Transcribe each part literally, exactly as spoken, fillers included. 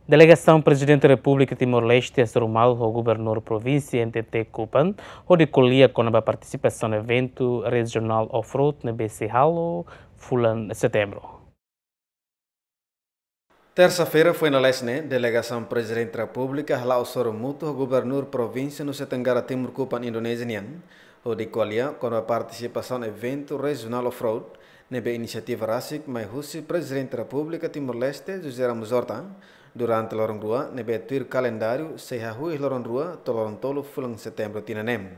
Delegasaun Prezidente Repúblika Timor-Leste hasoru malu ho Gubernur Provínsia N T T Kupang hodi ko'alia kona-ba partisipasaun eventu rejionál off-road ne'ebé sei halo fulan Setembru. Tersa-feira foin lalais ne'e, delegasaun Prezidente Repúblika hala'o hasoru mútuu ho Gubernur Provínsia Nusa Tenggara Timur Kupang Indonézia nian, hodi ko'alia kona-ba partisipasaun eventu rejionál off-road ne'ebé inisiativa rasik mai husi Prezidente Repúblika Timor-Leste José Ramos Horta durante loron rua, ne'ebé tuir kalendáriu sei hahú iha loron rua to'o loron tolu fulan Setembru tinan ne'e.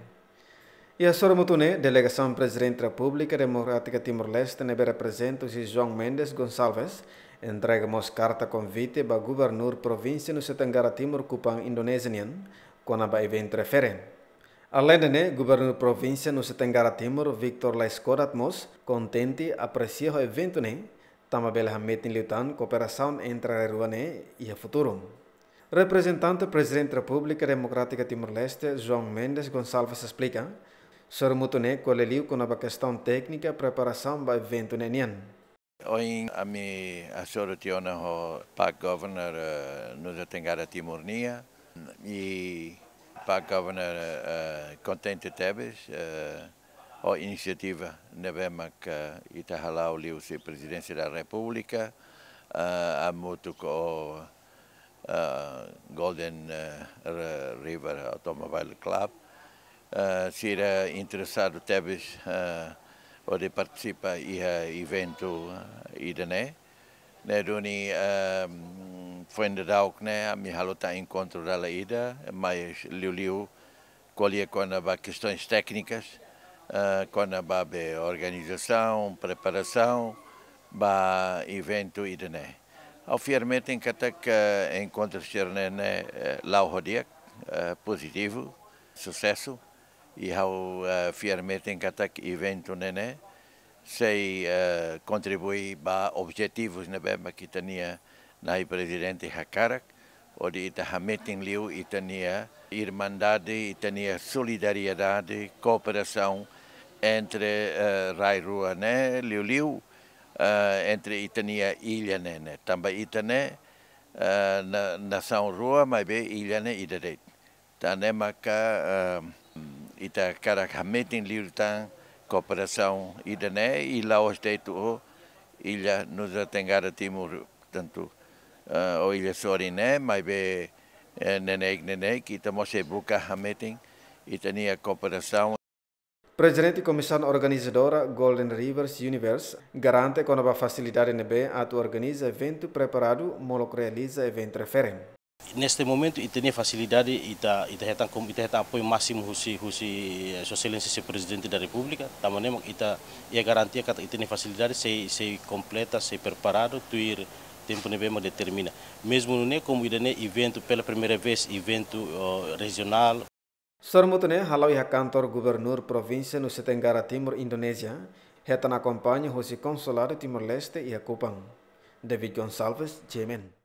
Iha hasoru mútuu ne'e, delegasaun Prezidente Repúblika Demokrátika Timor-Leste ne'ebé reprezenta husi João Mendes Gonçalves entrega mós karta konvite ba Gubernur Provínsia Nusa Tenggara Timur Kupang Indonézia nian kona-ba eventu refere. Aleinde ne'e, Gubernur Provínsia Nusa Tenggara Timur, Victor Laiskodat mós kontente apresia ho eventu ne'e, tanba bele hametin liután kooperasaun entre rai rua ne'e iha futuru. Reprezentante Prezidente Repúblika Demokrátika Timor-Leste, João Mendes Gonçalves esplika, hasoru mútuu ne'e ko'alia liu kona-ba kestaun téknika preparasaun ba eventu ne'e nian. Ohin ami hasoru tiha ona ho Pak Governor, eh, Nusa Tenggara Timur nian, i Pak Governor, eh, kontente tebes, eh, ho inisiativa ne'ebé maka ita hala'o liuhusi Prezidénsia da Repúblika, eh, hamutuk ho, eh, Golden, eh, Re-, River Automobile Club. Eh, sira interesadu tebes, eh, hodi partisipa iha eventu, eh, ida-ne'e. Ne'e duni, eh, foin daudauk ne'e, ami halo tan enkontru dala ida, mais liuliu ko'alia kona-ba kestaun téknika, eh, kona-ba be organizasaun, preparasaun ba eventu ida-ne'e. Ha'u fiar metin katak, eh, enkontru sira-ne'e, eh, la'o ho di'ak, eh, pozitivu, susesu. I ha'u, eh, fiar metin katak eventu ne'e sei, eh, kontribui ba objetivus ne'ebé mak ita-nia na'i Prezidente hakarak, hodi ita hametin liu ita-nia irmandade, ita-nia solidariedade, kooperasaun entre, eh, rai rua ne'e, liuliu, eh, entre ita-nia illa ne'e, ne'e. Tanba ita ne'e, eh, na-, nasaun rua, maibé illa ne'e ida de'it. Tan ne'e maka, eh, ita hakarak hametin liután kooperasaun ida-ne'e i la'ós de'it ho illa Nusa Tenggara Timur, tantu, eh, ho illa sorin ne'e, maibé, eh, neineik-neineik, ita mós sei buka hametin ita-nia kooperasaun. Prezidente Komisaun Organizadora Golden Rivers Universe garante kona-ba fasilidade ne'ebé atu organiza eventu preparadu molok realiza eventu refere. Neste momento, ita-nia fasilidade, ita, ita hetan kom-, ita hetan apoiu másimu husi, husi, eh, Sua Exelénsia Señór Prezidente da Repúblika, tanba ne'e mak ita iha garantia katak ita-nia fasilidade sei, sei kompleta, sei preparadu, tuir tempu ne'ebé mak determina. Mezmu nune'e, komu ida-ne'e eventu pela primeira vez, eventu, oh, rejionál. Hasoru mútuu ne'e hala'o iha kantor Gubernur Provínsia Nusa Tenggara Timur, Indonézia, hetan akompaña husi Konsuladu Timor-Leste iha Kupang. David Gonçalves, G M N.